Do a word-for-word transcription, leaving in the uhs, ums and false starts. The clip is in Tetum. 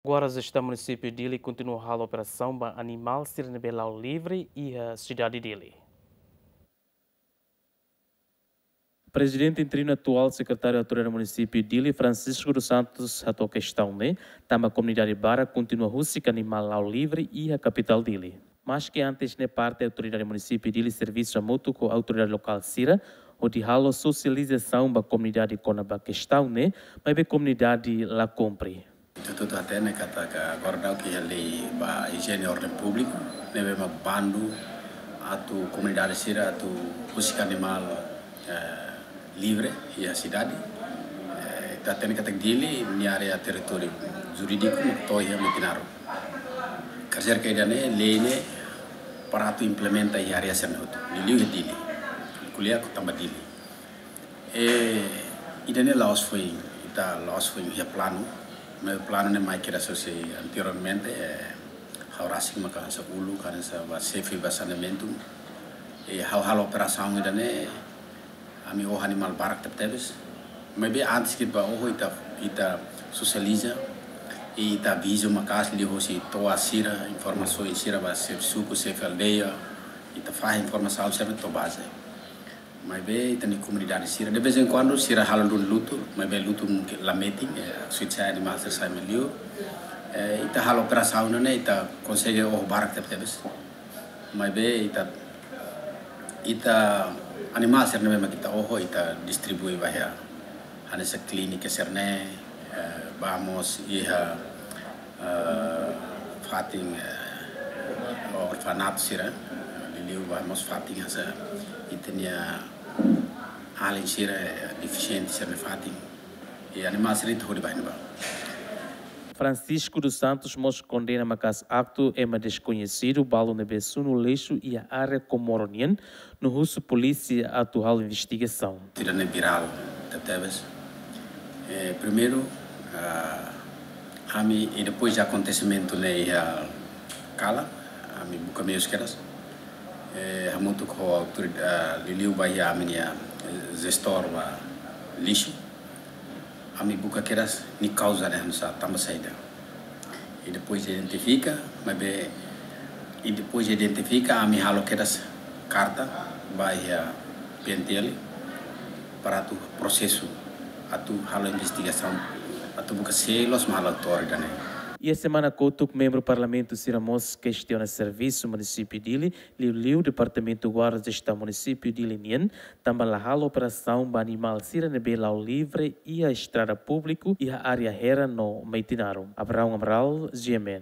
Guarda Jestaun Munisípiu Dili kontinua halo operasaun ba animál sira ne'ebé la'o livre iha sidade Dili. Prezidente interinu atuál, Sekretáriu Autoridade Munisípiu Dili, Francisco dos Santos, hato'o kestaun ne'e, tanba komunidade barak kontinua husik animál la'o livre iha kapitál Dili. Maske antes ne'e parte Autoridade Munisípiu Dili servisu hamutuk ho autoridade lokál sira, hodi halo sosializasaun ba komunidade kona-ba kestaun ne'e, maibé komunidade la kumpre. Ita hatene katak agora daudaun iha lei ba ijiene orden públiku, ne'ebé mak bandu atu komunidade sira atu husik animál, eh, livre iha sidade. Eh, ita hatene katak Dili nia área territóriu jurídiku mak to'o iha Metinaro. Karik ida-ne'e lei ne'e para atu implementa iha área sira hotu. Liuliu iha Dili. Ko'alia katak tanba Dili. Eh, ida-ne'e la'ós foin, ita la'ós foin iha planu. Maibé planu ne'e mai kira sose anteriormente, eh, ha'u rasik maka hanesan uluk, hanesan ba xefe ba saneamentu. Eh, ha'u halo operasaun ida-ne'e, ami oho animál barak tebetebes. Maibé antes ke ba oho ita, ita sosializa, ita aviza maka'as liuhosi to'as sira, informasaun sira ba xefe suku, xefe aldeia, ita fahe informasaun sira to'o baze. Maibé ita-nia komunidade sira, de vez em quando, sira halo duni lutu, maibé lutu mungkin la metin, eh, suit sai animál sira sai maliu. Eh, ita halo operasaun ne'e, ita konsege oho barak tebetebes. Maibé ita, ita animál sira ne'ebé mak ita oho, ita distribui ba iha hanesan klínika sira-ne'e, eh, ba mós iha, eh, fatin, eh, orfanatu sira, liuliu ba mós fatin hanesan ita-nia alin sira, eh, defisiente sira-nia fatin. I animál sira ita hodi ba iha ne'ebá. Francisco dos Santos mós kondena maka'as aktu ema deskoñesidu balu ne'ebé sunu lixu iha área Comoro nian, no husu polísia atu halo investigasaun. Ida-ne'e virál tebetebes. Eh, primeiru, ah, ami, i depois de akontesimentu ne'e iha kalan, ami buka meius kedas. Eh, hamutuk ho autoridade, ah, liuliu ba iha ami-nia, eh, jestór ba lixu. Ami buka kedas nia kauza ne'e hanesan tanba saida. I depois identifika, maibé, i depois identifika, ami halo kedas karta ba iha P N T L para atu prosesu, atu halo investigasaun, atu buka sé loos mak halo autór ida-ne'e. Iha semana kotuk, membru Parlamentu sira mós kestiona servisu Munisípiu Dili, liuliu Departamentu Guarda Jestaun Munisípiu Dili nian, tanba la halo operasaun ba animál sira ne'ebé la'o livre iha estrada públiku iha área Hera no Metinaro. Abraão Amaral, G M N.